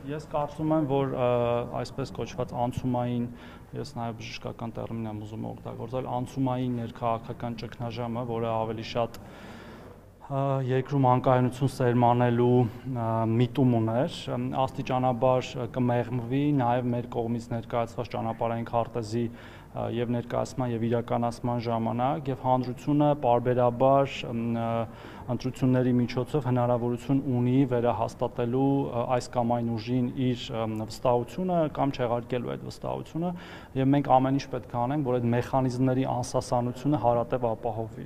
Ես կարծում եմ, որ այսպես կոչված անցումային, ես նաև բժշկական տերմին եմ ուզում օգտագործել, անցումային ներքաղաքական ճգնաժամը, որը ավելի շատ երկրում անկայունություն սերմանելու միտում ուներ, աստիճանաբար կմեղմվի նաև մեր կողմից ներկայացված ճանապարհային քարտեզի եւ ներկայացման եւ իրականացման ժամանակ եւ հանրությունը պարբերաբար ընտրությունների միջոցով հնարավորություն ունի վերահաստատելու այս կամ այն ուժին իր վստահությունը կամ չեղարկելու այդ վստահությունը եւ մենք ամեն ինչ պետք է անենք, որ այդ մեխանիզմների անսասանությունը հարատև ապահովվի։